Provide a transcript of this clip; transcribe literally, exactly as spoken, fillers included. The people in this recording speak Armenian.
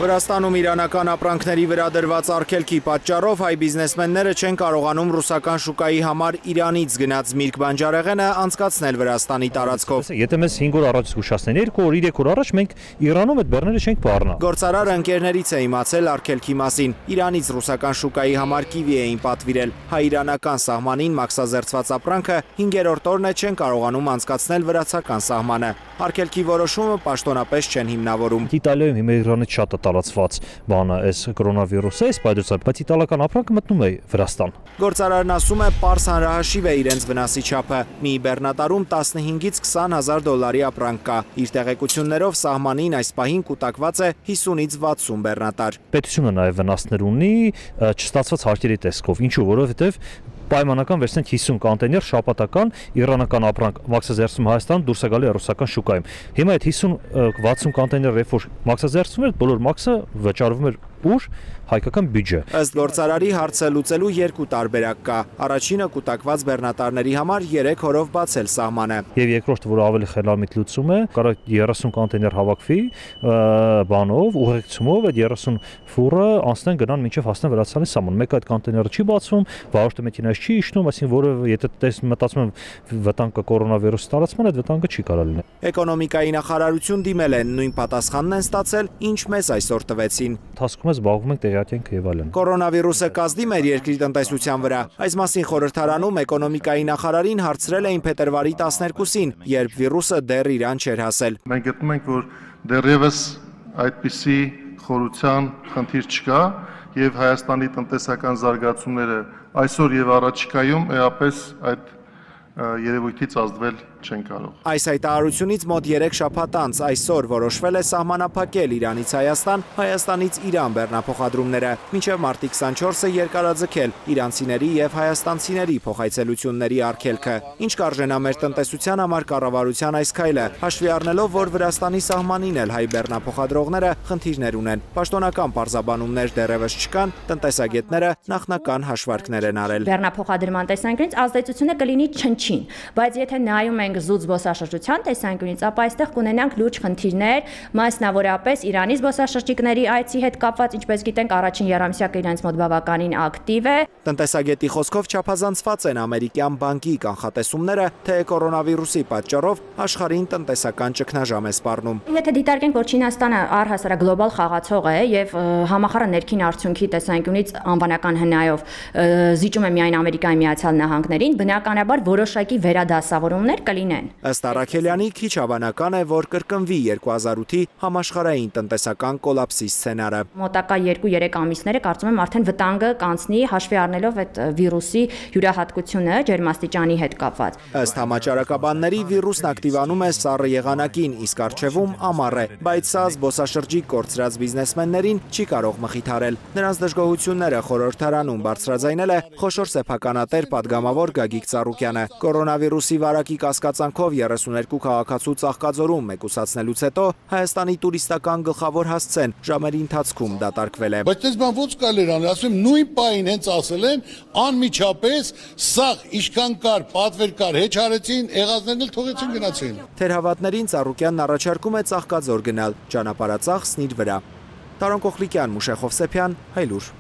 Վրաստանում իրանական ապրանքների վրա դրված արգելքի պատճառով հայ բիզնեսմենները չեն կարողանում ռուսական շուկայի համար Իրանից գնած միրգ բանջարեղենը անցկացնել Վրաստանի տարածքով։ Եթե մեզ հինգ օր առաջ զգուշացնեն, երկու օր, երեք օր առաջ մենք Իրանում այդ բեռները չենք բառնա։ Գործարարը ընկերներից է իմացել արգելքի մասին։ Իրանից ռուսական շուկայի համար կիվի էին պատվիրել։ Հայ-իրանական սահմանին մաքսազերծված ապրանքը հինգերորդ օրն է չեն կարողանում անցկացնել վրացական սահմանը։ Արգելքի որոշումը պաշտոնապես չեն հիմնավորում։ Իտալիայում հիմա Իրանից շատ է տարածված բանը այս կորոնավիրուսը, այս պայծառ, բայց իտալական ապրանքը մտնում է Վրաստան։ Գործարարն ասում է, պարզ հանրահաշիվ է իրենց վնասի չափը։ Մի բեռնատարում տասնհինգից քսան հազար դոլարի ապրանք կա։ Իր տեղեկություններով սահմանին այս պահին կուտակված է հիսունից վաթսուն բեռնատար։ Պետությունը նաև վնասներ ունի չստացված հարկերի տեսքով, ինչու, որովհետև պայմանական վերցնենք հիսուն կոնտեյներ շաբաթական իրանական ապրանք մաքսազերծում Հայաստան դուրս է գալի ռուսական շուկայում։ Հիմա այդ հիսուն վաթսուն կոնտեյներ երբ որ մաքսազերծում էր, բոլոր մաքսը վճարվում էր ուր հայկական բյուջե։ Ըստ գործարարի հարցը լուծելու երկու տարբերակ կա։ Առաջինը կուտակված բեռնատարների համար երեք օրով բացել սահմանը։ Եվ երկրորդը, որ ավելի խելամիտ լուծում է, կարող երեսուն կոնտեյներ հավաքվի բանով, ուղեկցումով, այդ երեսուն ֆուրը անցնեն գնան մինչև հասնեն Վրաստանի սահման։ Մեկ այդ կոնտեյները չի բացվում, վարորդը մեքենայից չի իջնում, այսինքն որը եթե տես մտածում եմ վտանգը կորոնավիրուսի տարածման, այդ վտանգը չի կարող լինել։ Էկոնոմիկայի նախարարություն դիմել են, նույն պատասխանն են ստացել, ինչ մեզ այսօր տվեցին։ Զբաղվում ենք տեղյակ եւ այլն։ Կորոնավիրուսը կազդի մեր երկրի տնտեսության վրա։ Այս մասին խորհրդարանում էկոնոմիկայի նախարարին հարցրել էին փետրվարի տասներկուսին, երբ վիրուսը դեռ Իրան չէր հասել։ Մենք գտնում ենք, որ դեռևս այդպիսի խորության խնդիր չկա եւ Հայաստանի տնտեսական զարգացումները այսօր եւ առաջիկայում էապես այդ երևույթից ազդվել չեն կարող։ Այս հայտարարությունից մոտ երեք շաբաթ անց այսօր որոշվել է սահմանափակել Իրանից Հայաստան, Հայաստանից Իրան բեռնափոխադրումները, մինչև մարտի քսանչորսը երկարաձգել իրանցիների եւ հայաստանցիների փոխայցելությունների արգելքը։ Ինչ կարժենա մեր տնտեսության համար կառավարության այս քայլը, հաշվի առնելով, որ Վրաստանի սահմանին էլ հայ բեռնափոխադրողները խնդիրներ ունեն։ Պաշտոնական պարզաբանումներ դեռևս չկան, տնտեսագետները նախնական հաշվարկներ են արել։ Բեռնափոխադրման տեսանկյունից ազդեցությունը կլինի չնչին, բայց եթե նայում ենք զուտ զբոսաշրջության տեսանկյունից, ապա այստեղ կունենանք լուրջ խնդիրներ, մասնավորապես Իրանի զբոսաշրջիկների այցի հետ կապված, ինչպես գիտենք, առաջին եռամսյակը իրենց մոտ բավականին ակտիվ է։ Տնտեսագետի խոսքով չափազանցված են ամերիկյան բանկի կանխատեսումները, թե կորոնավիրուսի պատճառով աշխարհին տնտեսական ճգնաժամ է սպառնում։ Եթե դիտարկենք, որ Չինաստանը առհասարակ գլոբալ խաղացող է եւ համախառն ներքին արդյունքի տեսանկյունից անվանական հնայով զիջում է միայն Ամերիկայի Միացյալ Նահանգներին, բնականաբար որոշակի վերադասավորումներ կլինեն։ Ըստ Արաքելյանի, քիչ հավանական է, որ կրկնվի երկու հազար ութի համաշխարհային տնտեսական կոլապսի սցենարը։ Մոտակա երկու-երեք ամիսները կարծում եմ արդեն վտանգը կանցնի, հաշվի առնելով այդ վիրուսի յուրահատկությունը ջերմաստիճանի հետ կապված։ Ըստ համաճարակաբանների վիրուսն ակտիվանում է սառը եղանակին, իսկ առջևում ամառ է, բայց սա զբոսաշրջիկ կորցրած բիզնեսմեններին չի կարող մխիթարել։ Նրանց դժգոհությունները խորհրդարանում բարձրաձայնել է խոշոր սեփականատեր падգամավոր Գագիկ Ծառուկյանը։ Կորոնավիրուսի վարակի կասկածանքով երեսուներկու քաղաքացու Ծաղկաձորում մեկուսացնելուց հետո Հայաստանի տուրիստական գլխավոր հասցեն ժամերի ընթացքում դատարկվել է։ Բայց դες բան ոչ կարելի անել, ասում եմ նույն պահին հենց ասել են, անմիջապես սաղ ինչքան կար, պատվեր կար, հեչ արեցին, եղածներն էլ թողեցին գնացին։ Թերհավատներին Ծառուկյանն առաջարկում է Ծաղկաձոր գնալ, ճանապարհածախսն իր վրա։ Տարոն Կոխլիկյան, Մուշեղ Հովսեփյան, Հայլուր։